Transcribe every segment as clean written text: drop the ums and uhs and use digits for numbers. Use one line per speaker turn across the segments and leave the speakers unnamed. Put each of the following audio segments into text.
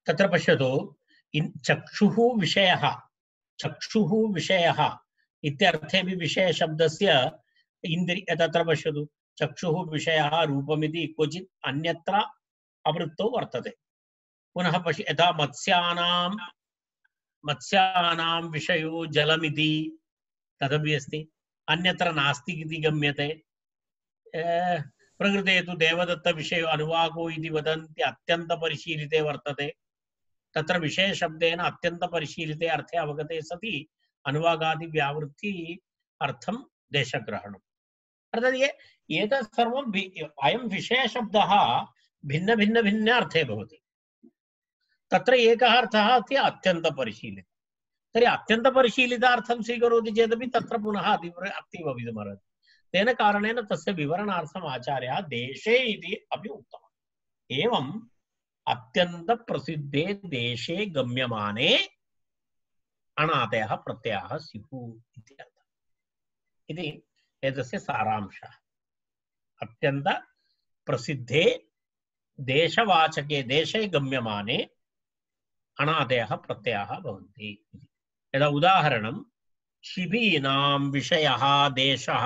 तत्र पश्यतु चक्षुः विषयः इत्यर्थेपि विषयशब्दस्य इन्द्रिय तत्र पश्यतु चक्षुः विषयः रूपमिति क्वचित् अन्यत्र आवृत्तौ वर्तते पुनः पश्य यथा मत्स्यानां विषयो जलमिति तदपि अस्ति अन्यत्र नास्ति इति गम्यते प्रकृते तु देवदत्त विषयो अनुवाको इति वदन्ति अत्यन्तपरिशीलिते वर्तते तत्र विषयशब्देन अत्यन्तपरिशीलिते अर्थे अवगते सति अनुवागादि व्यावृत्ति अर्थं देशग्रहणम् अर्थात् एतत् सर्वम् अयं विषयशब्दः भिन्न भिन्न भिन्न अर्थे भवति तत्र एकः अर्थः अस्ति अत्यन्तपरिशीलितः तर्हि अत्यन्तपरिशीलितार्थं स्वीकरोति चेदपि तत्र पुनः अति भवितुमर्हति तेन कारणेन तस्य विवरणार्थम् आचार्यः देशे इति अपि उक्तवान् एवम् अत्यन्तप्रसिद्धे देशे गम्यमाने अणादयः प्रत्ययाः स्युः इति एतस्य सारांशः अत्यन्तप्रसिद्धे देशवाचके देशे गम्यमाने अणादयः प्रत्ययाः भवन्ति यदा उदाहरणं शिबीनां विषयः देशः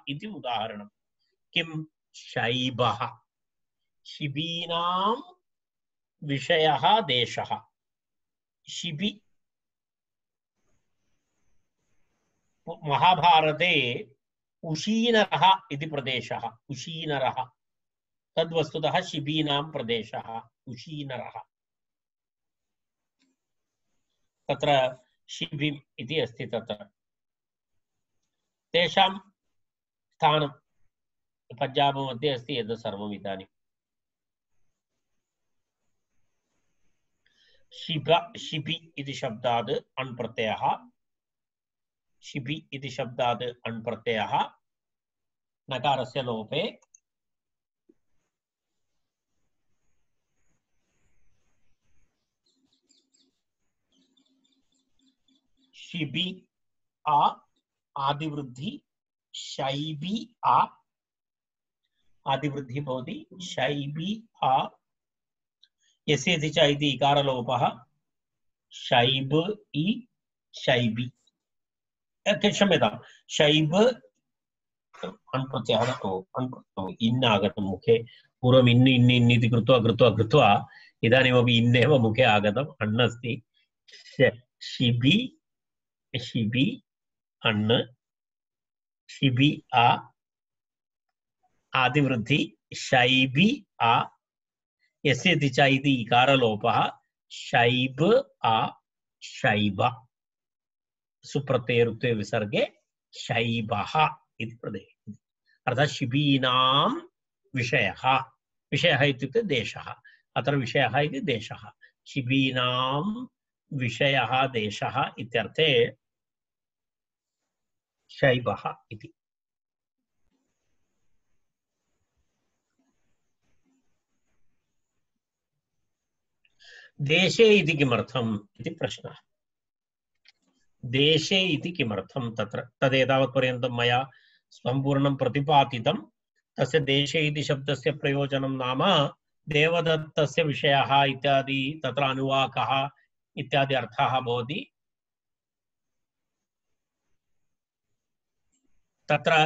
इति उदाहरणं किं शैबः शिबीनां विषयः देशः शिबि महाभारते उशीनरः इति प्रदेशः उशीनरः तद्वस्तुतः शिबीनां प्रदेशः उशीनरः तत्र शिबिम् इति अस्ति तत्र तेषां स्थानं पञ्जाब मध्ये अस्ति एतत् सर्वम् इदानीं शिबि इति शब्दात् अण् प्रत्ययः शिबि इति शब्दात् अण् प्रत्ययः नकारस्य लोपे शिबि आ आदिवृद्धि शैबी आ आदिवृद्धि भवति शैबी आ यस्येति च इति इकारलोपः शैब इ शैबी क्षम्यतां शैब अण्प्रत्ययः इन् आगतं मुखे पूर्वम् इन् इति कृत्वा इदानीमपि इन्नेव मुखे आगतम् अण् अस्ति शिबि शिबि अण् शिबि आ आदिवृद्धि शैबि आ यस्येति च इति इकारलोपः शैब आ शैब सुप्रत्ययरुक्ते विसर्गे शैबः इति प्रदेशः अर्थात् शिबीनां विषयः विषयः इत्युक्ते देशः अत्र विषयः इति देशः शिबीनां विषयः देशः इत्यर्थे शैबः इति देशे इति किमर्थम् इति प्रश्नः देशे इति किमर्थं तत्र तदेतावत्पर्यन्तं मया सम्पूर्णं प्रतिपादितं तस्य देशे इति शब्दस्य प्रयोजनं नाम देवदत्तस्य विषयः इत्यादि तत्र अनुवाकः इत्यादि अर्थाः भवति तत्र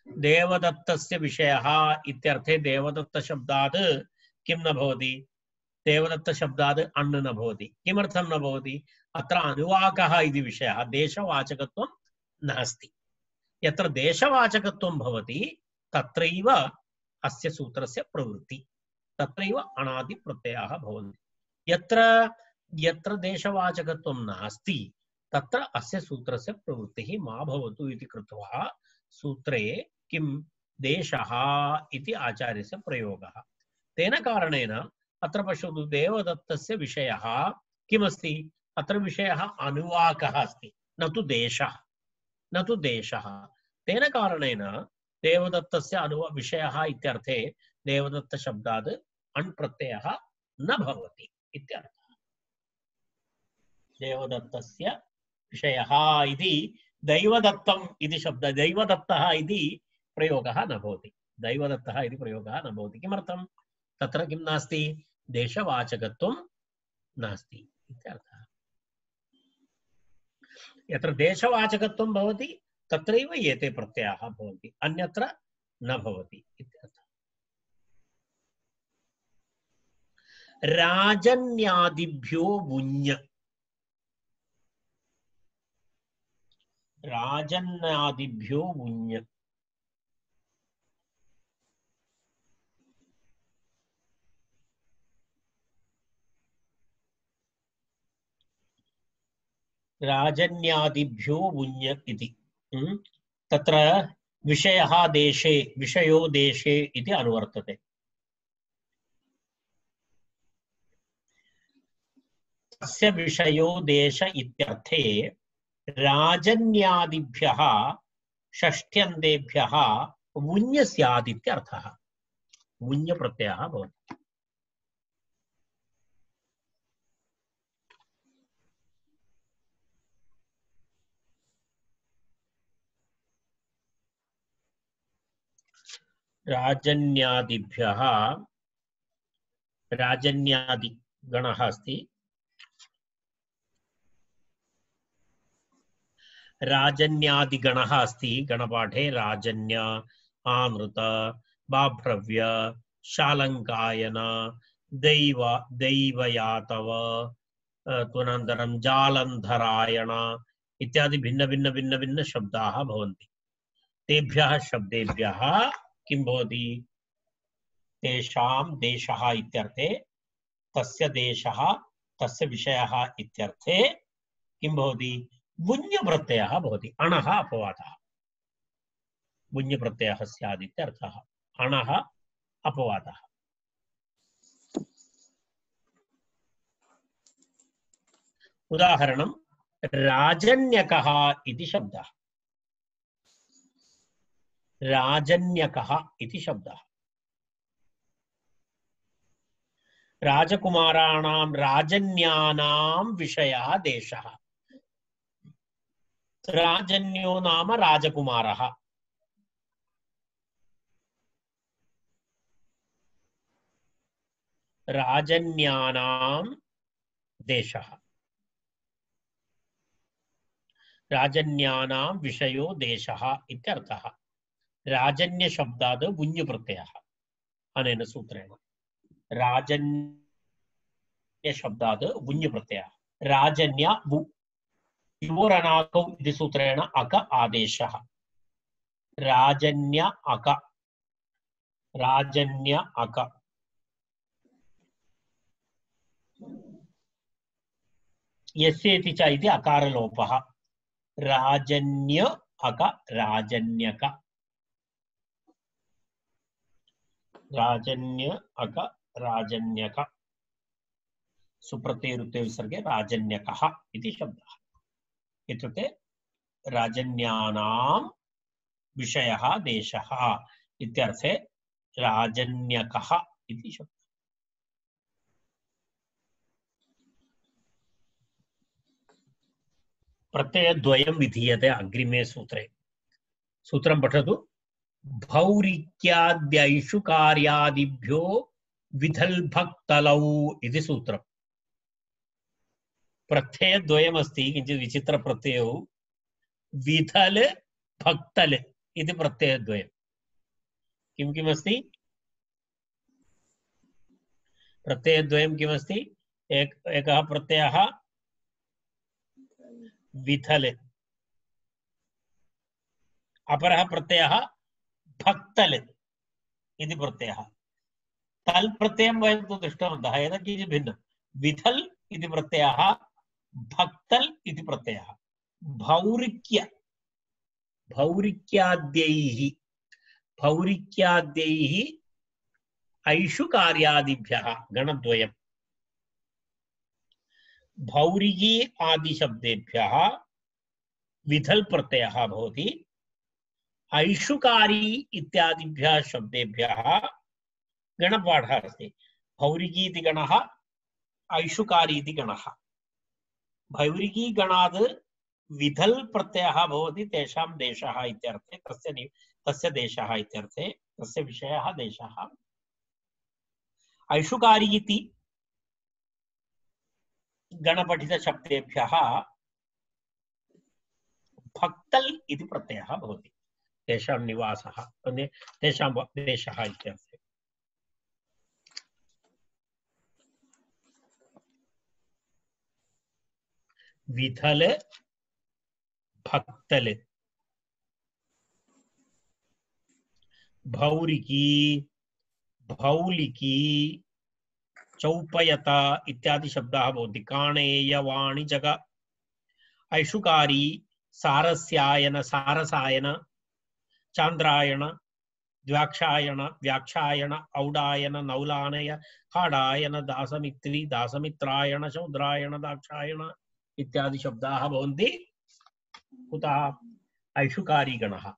देवदत्तस्य विषयः इत्यर्थे देवदत्त शब्दात् किं न भवति देवदत्त शब्दात् अण् न भवति किमर्थं न भवति अत्र अनुवाकः इति विषयः देशवाचकत्वं नास्ति यत्र देशवाचकत्वं भवति तत्रैव अस्य सूत्रस्य प्रवृत्ति तत्रैव अणादि प्रत्ययाः भवन्ति यत्र देशवाचकत्वं नास्ति तत्र अस्य सूत्रस्य प्रवृत्तिः मा भवतु इति कृत्वा सूत्रे किं देशः इति आचार्यस्य प्रयोगः तेन कारणेन अत्र पश्यतु देवदत्तस्य विषयः किमस्ति अत्र विषयः अनुवाकः अस्ति न तु देशः तेन कारणेन देवदत्तस्य विषयः इत्यर्थे देवदत्त शब्दात् अण् प्रत्ययः न भवति इत्यर्थः देवदत्तस्य विषयः इति दैवदत्तम् इति शब्द दैवदत्तः इति प्रयोगः न भवति दैवदत्तः इति प्रयोगः न भवति। किमर्थं? तत्र किं नास्ति? देशवाचकत्वं नास्ति इत्यर्थः। यत्र देशवाचकत्वं भवति तत्रैव एते प्रत्ययाः भवन्ति, अन्यत्र न भवति इत्यर्थः। राजन्यादिभ्यो वुञ्, राजन्यादिभ्यो वुञ्, राजन्यादिभ्यो वुञ् इति तत्र विषयः देशे, विषयो देशे इति अनुवर्तते। तस्य विषयो देश इत्यर्थे राजन्यादिभ्यः षष्ठ्यन्तेभ्यः वुञ् स्यात् इत्यर्थः। वुञ् प्रत्ययः भवति। राजन्यादिभ्यः, राजन्यादि गणः अस्ति, राजन्यादिगणः अस्ति गणपाठे। राजन्य, आनृत, बाभ्रव्य, शालङ्कायन, दैव, दैवयातव, तदनन्तरं जालन्धरायण इत्यादि भिन्न भिन्न भिन्न भिन्न शब्दाः भवन्ति। तेभ्यः शब्देभ्यः किं भवति? तेषां देशः इत्यर्थे, तस्य देशः, तस्य विषयः इत्यर्थे किं भवति? वुञ् प्रत्ययः भवति। अणः अपवादः, वुञ् प्रत्ययः स्यात् इत्यर्थः। अणः अपवादः। उदाहरणं राजन्यकः इति शब्दः। राजन्यकः इति शब्दः राजकुमाराणां, राजन्यानां विषयः देशः। राजन्यो नाम राजकुमारः। राजन्यानां देशः, राजन्यानां विषयो देशः इत्यर्थः। राजन्य शब्दात् वुञ् प्रत्ययः अनेन सूत्रेण। राजन्य शब्दात् वुञ् प्रत्ययः। राजन्य वु योरनाकौ इति सूत्रेण अक आदेशः। राजन्य अक, राजन्य अक। यस्य इति च इति अकारलोपः। राजन्य अक, राजन्यक। राजन्य अक, राजन्यक। सुप्रत्ययरुत्ते विसर्गे राजन्यकः इति शब्दः। इत्युक्ते राजन्यानां विषयः देशः इत्यर्थे राजन्यकः इति शब्दः। प्रत्ययद्वयं विधीयते अग्रिमे सूत्रे। सूत्रं पठतु। भौरिक्याद्यैषुकार्यादिभ्यो विधल्भक्तलौ इति सूत्रम्। प्रत्ययद्वयमस्ति, किञ्चित् विचित्रप्रत्ययौ। विधल भक्तल इति प्रत्ययद्वयं। किं किमस्ति? प्रत्ययद्वयं किमस्ति? एकः प्रत्ययः विधल, अपरः प्रत्ययः भक्तल इति प्रत्ययः। तल् प्रत्ययं वयं तु दृष्टवन्तः, एतत् किञ्चित् भिन्नं। विधल इति प्रत्ययः, भक्तल इति प्रत्ययः। भौरिक्य, भौरिक्याद्यैः, भौरिक्याद्यैः ऐषुकार्यादिभ्यः गणद्वयम्। भौरिकी आदिशब्देभ्यः विधल प्रत्ययः भवति। ऐषुकारी इत्यादिभ्यः शब्देभ्यः गणपाठः अस्ति। भौरिकी इति गणः, ऐषुकारी इति गणः। भौरिकी गणात् विधल प्रत्ययः भवति तेषां देशः इत्यर्थे, तस्य देशः इत्यर्थे। तस्य विषयः देशः। ऐषुकारी इति गणपठितशब्देभ्यः भक्तल् इति प्रत्ययः भवति। तेषां निवासः तेषां देशः इत्यर्थे। विथल भक्तल भौरिकी भौलिकी चौपयता इत्यादि शब्दाः भवन्ति। काणेय वाणिजग ऐषुकारी सारस्यायन सारसायन चांद्रायण द्वाक्षायण व्याक्षायण औडायन नौलानय खाडायन दासमित्री दासमित्रायण शौद्रायण दाक्षायण इत्यादि शब्दाः भवन्ति। कुतः? ऐषुकारी गणः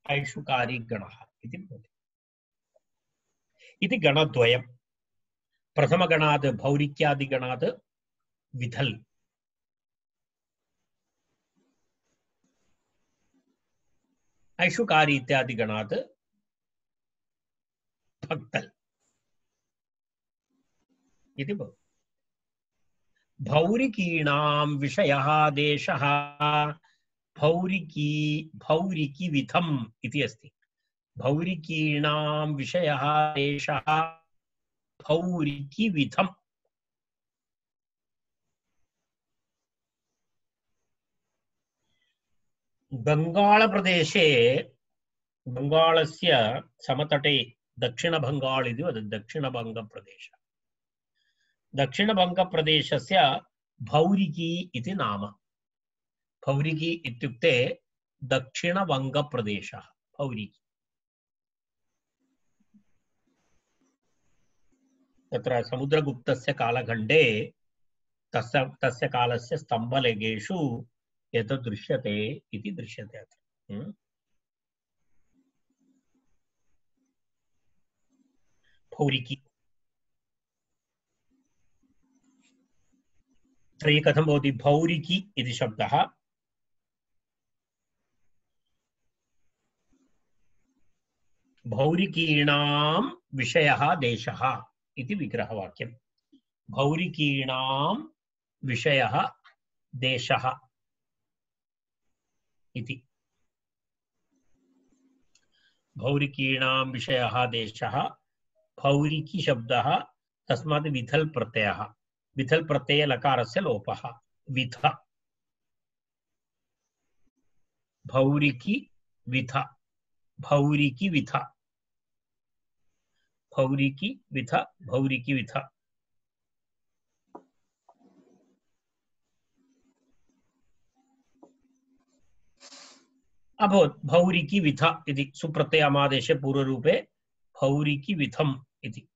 ऐषुकारी गणः इति भवति। इति गणद्वयम्। प्रथमगणात् भौरिक्यादिगणात् विथल्, ऐषुकारी इत्यादि गणात् भक्तल् इति भवति। भौरिकीणां विषयः देशः भौरिकी भौरिकी विथम् इति अस्ति। भौरिकीणां विषयः देशः भौरिकी विथम्। बंगालप्रदेशे बंगालस्य समतटे दक्षिणबंगाल इति वदति। दक्षिणबंगप्रदेश दक्षिणबंगप्रदेशस्य भौरिकी इति नाम। भौरिकी इत्युक्ते दक्षिणबंगप्रदेशः भौरिकी। तत्र समुद्रगुप्तस्य कालखण्डे तस्य कालस्य स्तम्भलेखेषु एतत् दृश्यते इति दृश्यते अत्र। भौरिकी तर्हि कथं भवति? भौरिकी इति शब्दः भौरिकीणां विषयः देशः इति विग्रहवाक्यम्। भौरिकीणां विषयः देशः इति। भौरिकीणां विषयः देशः भौरिकी शब्दः तस्मात् विथल् प्रत्ययः। विथल् प्रत्यये लकारस्य लोपः। विथ भौरिकी विथ भौरिकी विथ भौरिकी विथ भौरिकी विथ। अभवत् भौरिकी विथ इति सुप्रत्ययामादेशे पूर्वरूपे भौरिकी विथम् इति।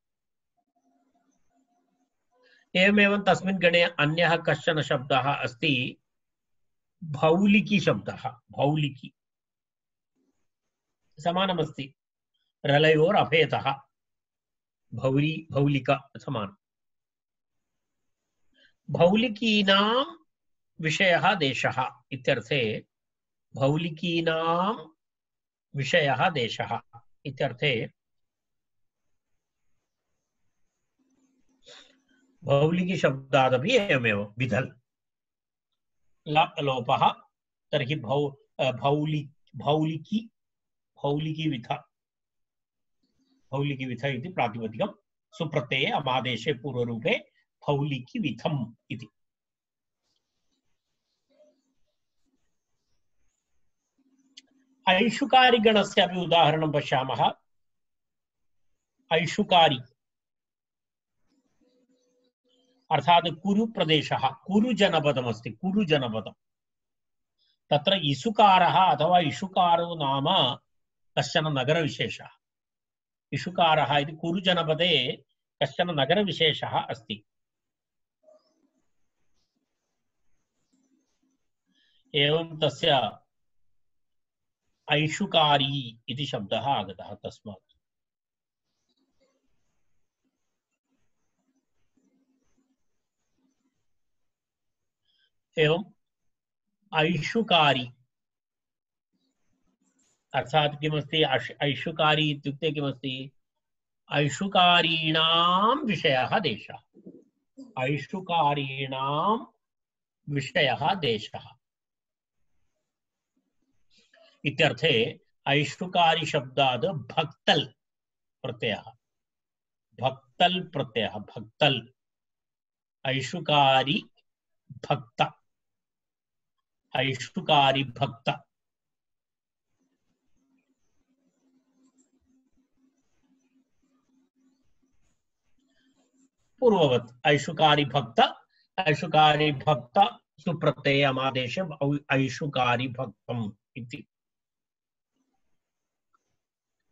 एवमेव तस्मिन् गणे अन्यः कश्चन शब्दः अस्ति भौलिकी शब्दः। भौलिकी समानमस्ति रलयोर् अभेदः। भौरी भौलिका समानम्। भौलिकीनां विषयः देशः इत्यर्थे भौलिकीनां विषयः देशः इत्यर्थे भौलिकी शब्दादपि एवमेव विथल् लोपः। तर्हि भौलिकी भौलिकी विथ भौलिकी विथ इति प्रातिपदिकं। सुप्रत्यये अमादेशे पूर्वरूपे भौलिकी विथम् इति। ऐषुकारी गणस्य अपि उदाहरणं पश्यामः। ऐषुकारी अर्थात कुरु प्रदेशः कुरु जनपदमस्ति। कुरु जनपदम् तत्र इषुकारः अथवा इषुकारो नाम कश्चन नगरविशेषः। इषुकारः इति कुरु जनपदे कश्चन नगरविशेषः अस्ति। एवं तस्य ऐषुकारी इति शब्दः आगतः तस्मात्। एवं ऐषुकारी अर्थात किमस्ति ऐषुकारी इत्युक्ते किमस्ति ऐषुकारीणां विषयः देशः ऐषुकारीणां विषयः देशः इत्यर्थे ऐषुकारी शब्दात् भक्तल प्रत्ययः भक्तल ऐषुकारी भक्त ऐषुकारी भक्त पूर्ववत् ऐषुकारी भक्त सुप्रत्यय आदेश ऐषुकारी भक्तम् इति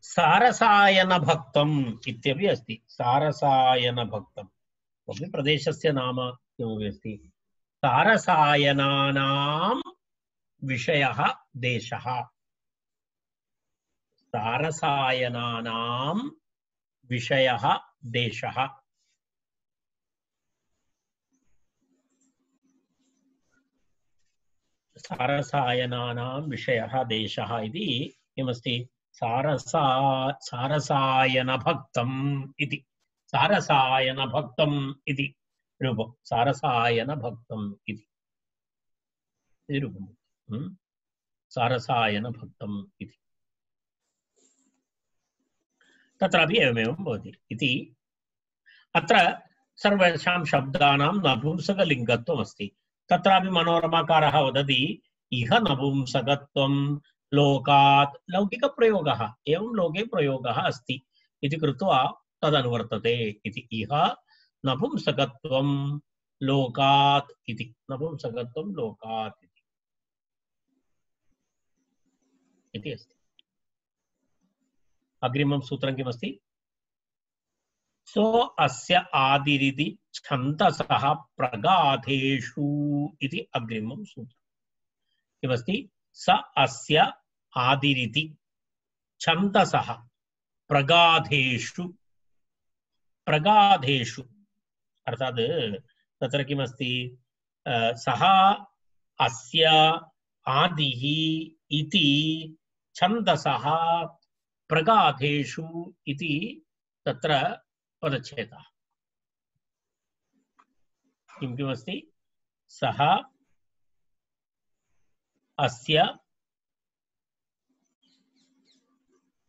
सारसायन भक्तम् इत्यपि अस्ति सारसायन भक्तम् अपि प्रदेशस्य नाम किमपि अस्ति सारसायनानां विषयः देशः सारसायनानां विषयः देशः सारसायनानां विषयः देशः इति किमस्ति सारसायनभक्तम् इति सारसायनभक्तम् इति रूपं सारसायनभक्तम् इति रूपं सारसायनभक्तम् इति तत्रापि एवमेवं भवति इति अत्र सर्वेषां शब्दानां नपुंसकलिङ्गत्वम् अस्ति तत्रापि मनोरमाकारः वदति इह नपुंसकत्वं लोकात् लौकिकप्रयोगः एवं लोके प्रयोगः अस्ति इति कृत्वा तदनुवर्तते इति इह नपुंसकत्वं लोकात् इति नपुंसकत्वं लोकात् इति अस्ति अग्रिमं सूत्रं किमस्ति सो अस्य आदिरिति छन्दसः प्रगाधेषु इति अग्रिमं सूत्रं किमस्ति स अस्य आदिरिति छन्दसः प्रगाधेषु प्रगाधेषु अर्थात् तत्र किमस्ति सः अस्य आदिः इति छन्दसः प्रगाधेषु इति तत्र पदच्छेदः किमस्ति सः अस्य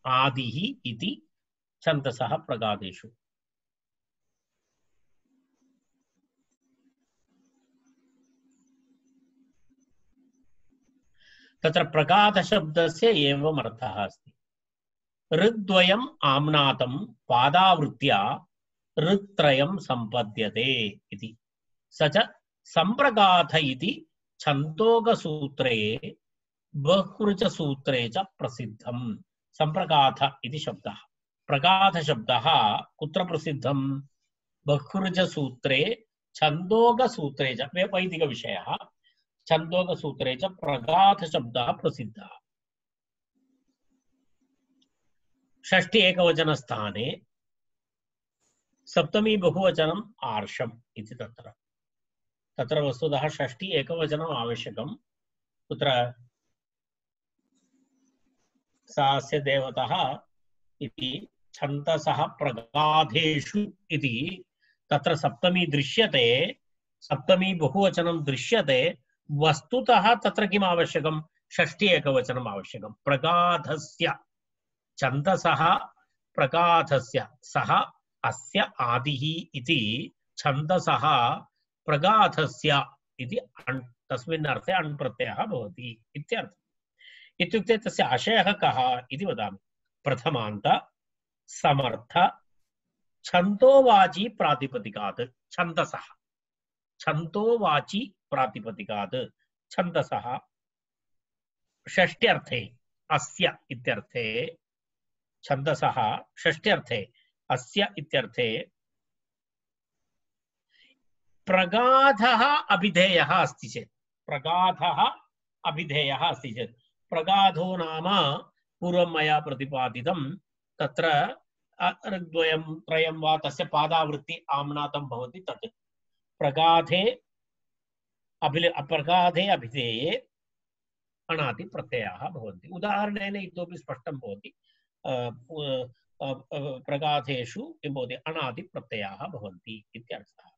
आदिः इति छन्दसः प्रगाधेषु तत्र प्रगाध शब्दस्य एवम् अर्थः अस्ति ऋद्वयम् आम्नातं पादावृत्त्या ऋत्रयं सम्पद्यते इति स च सम्प्रगाथ इति छन्दोगसूत्रे बहुवृचसूत्रे च प्रसिद्धं सम्प्रगाथ इति शब्दः प्रगाथ शब्दः कुत्र प्रसिद्धं बहुवृचसूत्रे छन्दोगसूत्रे च वैदिकविषयः छन्दोगसूत्रे च प्रगाथ शब्दः प्रसिद्धः षष्ठी एकवचनस्थाने सप्तमी बहुवचनम् आर्षम् इति तत्र वस्तुतः षष्ठी एकवचनम् आवश्यकं कुत्र सास्य देवतः इति छन्दसः प्रगाधेषु इति तत्र सप्तमी दृश्यते सप्तमी बहुवचनं दृश्यते वस्तुतः तत्र किम् आवश्यकं षष्ठी एकवचनम् आवश्यकं प्रगाधस्य छन्दसः प्रगाधस्य सः अस्य आदिः इति छन्दसः प्रगाधस्य इति तस्मिन् अर्थे अण् प्रत्ययः भवति इत्यर्थः इत्युक्ते तस्य आशयः कः इति वदामि प्रथमान्त समर्थ छन्दोवाची प्रातिपदिकात् छन्दसः छन्दोवाची प्रातिपदिकात् छन्दसः षष्ट्यर्थे अस्य इत्यर्थे छन्दसः षष्ट्यर्थे अस्य इत्यर्थे प्रगाधः अभिधेयः अस्ति चेत् प्रगाधः अभिधेयः अस्ति चेत् प्रगाधो नाम पूर्वं मया प्रतिपादितं तत्र ऋग्द्वयं त्रयं वा तस्य पादावृत्ति आम्नातं भवति तत् प्रगाधे प्रगाधे अभिधेये अणादिप्रत्ययाः भवन्ति। उदाहरणेन इतोपि स्पष्टं भवति। प्रगाथेषु किं भवति, अणादिप्रत्ययाः भवन्ति इत्यर्थः।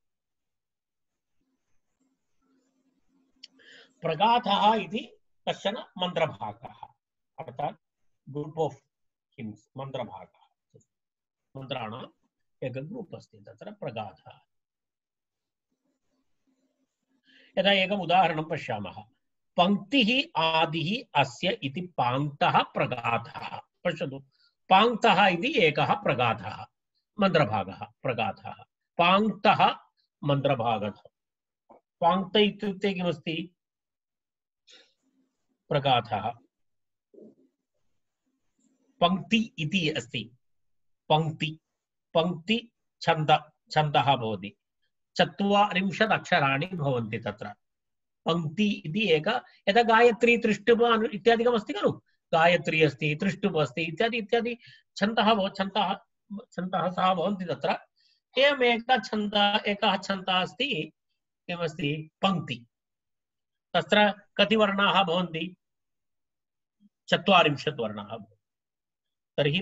प्रगाथः इति कश्चन मन्त्रभागः, अर्थात् ग्रूप् आफ् हिम्स्, मन्त्रभागः, मन्त्राणाम् एकं ग्रूप् अस्ति, तत्र प्रगाथः। यदा एकम् उदाहरणं पश्यामः, पंक्तिः आदिः अस्य इति पाङ्क्तः प्रगाथः। पश्यतु, पाङ्क्तः इति एकः प्रगाथः, मन्त्रभागः प्रगाथः। पाङ्क्तः मन्त्रभागः। पाङ्क्त इत्युक्ते किमस्ति? प्रगाथः। पंक्ति इति अस्ति, पंक्ति, पंक्ति छन्द, छन्दः भवति, 40 अक्षराणि भवन्ति तत्र। पंक्ति इति एक, यदा गायत्री त्रिष्टुप इत्यादिकम् अस्ति खलु, गायत्री अस्ति, त्रिष्टुप अस्ति, इत्यादि इत्यादि छन्दः सः भवन्ति तत्र। एवम् एकः छन्दः अस्ति, किमस्ति, पंक्ति। तत्र कति वर्णाः भवन्ति? 40 वर्णाः। तर्हि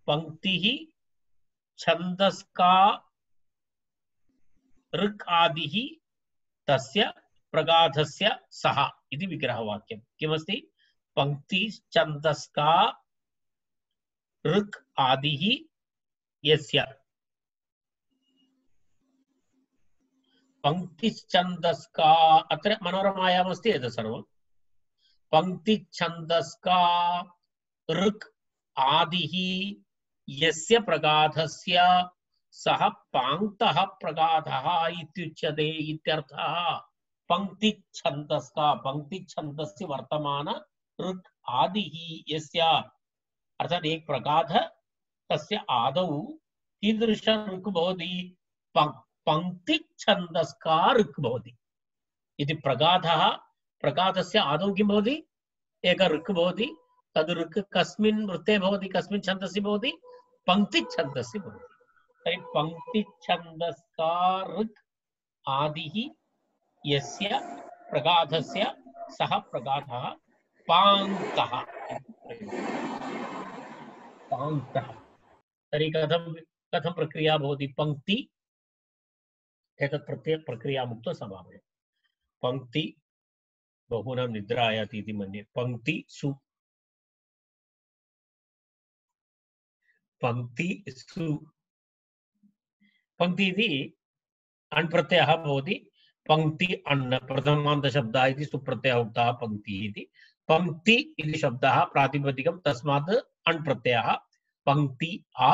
पंक्तिः छन्दस्का ऋक् आदिः तस्य प्रगाथस्य सः इति विग्रहवाक्यं। किमस्ति? पंक्तिश्छन्दस्का ऋक् आदिः यस्य। पंक्तिश्छन्दस्का, अत्र मनोरमायाम् अस्ति एतत् सर्वं। पंक्तिश्छन्दस्का ऋक् आदिः यस्य प्रगाथस्य सः पाङ्क्तः प्रगाथः इत्युच्यते इत्यर्थः। पंक्तिच्छन्दस्का, पंक्तिच्छन्दस्य वर्तमान ऋक् आदिः यस्य, अर्थात् एक प्रगाथ, तस्य आदौ कीदृश ऋक् भवति? पंक्तिच्छन्दस्का ऋक् भवति इति। प्रगाथः, प्रगाथस्य आदौ किं भवति? एक ऋक् भवति। तद् ऋक् कस्मिन् वृत्ते भवति, कस्मिन् छन्दसि भवति? पंक्तिच्छन्दसि भवति। तर्हि पंक्तिच्छन्दस्का ऋक् आदिः यस्य प्रगाथस्य सः प्रगाथः पाङ्क्तः। पाङ्क्तः। तर्हि कथं प्रक्रिया भवति? पंक्ति, एतत् प्रक्रियामुक्त्वा समापय। पंक्ति, बहूनां निद्रा आयाति इति मन्ये। पंक्ति सु, पंक्ति सु, पंक्ति इति अण् प्रत्ययः भवति। पंक्ति अण् प्रथमान्तशब्दः इति सुप्रत्ययः उक्तः पंक्तिः इति। पंक्ति इति शब्दः प्रातिपदिकं, तस्मात् अण् प्रत्ययः। पंक्ति आ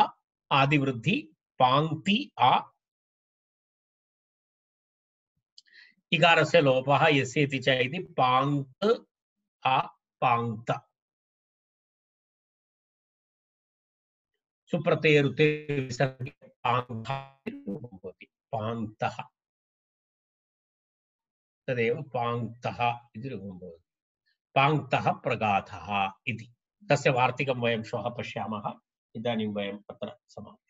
आदिवृद्धि, पाङ्क्ति आ इकारस्य लोपः यस्य इति च इति पाङ्क्त आ पाङ्क्त। सुप्रत्ययरुते विसर्गे पाङ्क्तः, तदेव पाङ्क्तः इति रूपं भवति। पाङ्क्तः प्रगाथः इति। तस्य वार्तिकं वयं श्वः पश्यामः। इदानीं वयम् अत्र समापयामः।